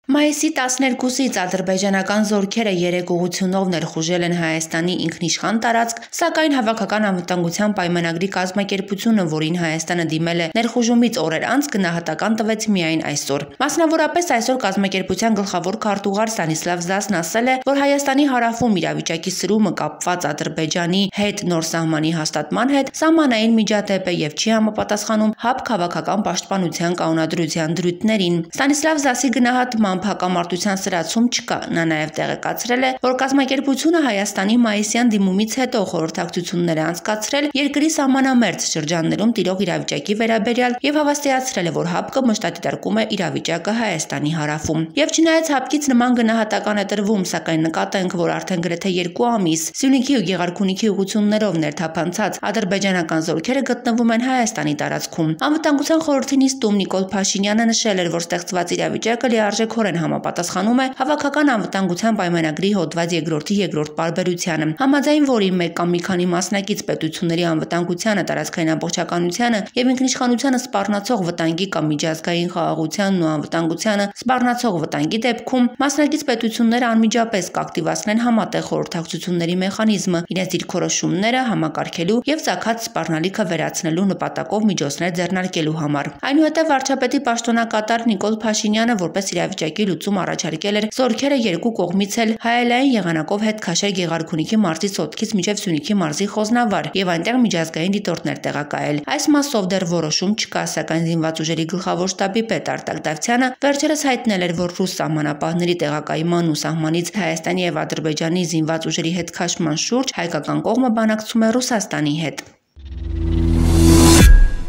Մայիսի 12-ից ադրբեջանական զորքերը 3 ուղղությունով ներխուժել են Հայաստանի ինքնիշխան տարածք, սակայն Հավաքական անվտանգության պայմանագրի կազմակերպությունը, որին Հայաստանը դիմել է ներխուժումից օրեր անց, գնահատական տվեց միայն այսօր։ Մասնավորապես այսօր կազմակերպության գլխավոր քարտուղար Ստանիսլավ Զասն ասել է, որ Հայաստանի հարավում իրավիճակի սրումը կապված Ադրբեջանի հետ նոր սահմանի հաստատման հետ սահմանային միջադեպ է եւ չի համապատասխանում ՀԱԲ քաղաքական պաշտպանության կանոնադրության դրույթներին։ Ստանիսլավ Զասի գնահատմամբ հակամարտության սրացում չկա։ Նա նաև տեղեկացրել է, որ կազմակերպությունը Հայաստանի մայիսյան դիմումից հետո խորհրդակցություններ է անցկացրել երկրի սահմանամերձ շրջաններում տիրող իրավիճակի վերաբերյալ եւ հավաստիացրել է, որ ՀԱԲԿ մշտադիտարկում է իրավիճակը Հայաստանի հարավում։ Եվ չնայած ՀԱԲԿ-ից նման գնահատական է տրվում, սակայն նկատենք, որ արդեն գրեթե 2 ամիս Սյունիքի ու Գեղարքունիքի ուղղություններով ներթափանցած ադրբեջանական զորքերը գտնվում են Հայաստանի տարածքում։ Անվտանգության խորհրդի նիստում Նիկոլ Փաշինյանը նշել էր, որ ստեղծված իրավիճակը լիարժեքորեն համապատասխանում է Հավաքական անվտանգության պայմանագրի հոդված 2-ի 2-րդ պարբերությանը, համաձայն որի մեկ կամ մի քանի մասնակից պետությունների անվտանգությանը, տարածքային ամբողջականությանը եւ ինքնիշխանությանը սպառնացող վտանգի կամ միջազգային խաղաղությանն ու անվտանգությանը սպառնացող վտանգի դեպքում մասնակից պետությունները անմիջապես կակտիվացնեն համատեղ խորհրդակցությունների մեխանիզմը, իրենց դիրքորոշումները համակարգելու եւ ցակած սպառնալիքը վերացնելու նպատակով միջոցներ ձեռնարկելու համար։ Այնուհետև վարչապետի պաշտոնակատար Նիկոլ Փաշինյանը որպես իրավիճակի լուծում առաջարկել էր զորքերը երկու կողմից էլ հայելային եղանակով հետ քաշել Գեղարքունիքի մարզի Սոտքից մինչև Սյունիքի մարզի Խոզնավար եւ այնտեղ միջազգային դիտորդներ տեղակայել։ Այս մասով դեռ որոշում չկա, սակայն զինված ուժերի գլխավոր շտաբի պետ Արտակ Դավթյանը վերջերս հայտնել էր, որ ռուս սահմանապահների տեղակայման ու սահմանից Հայաստանի եւ Ադրբեջանի զինված ուժերի հետ քաշման շուրջ հայկական կողմը բանակցում է Ռուսաստանի հետ։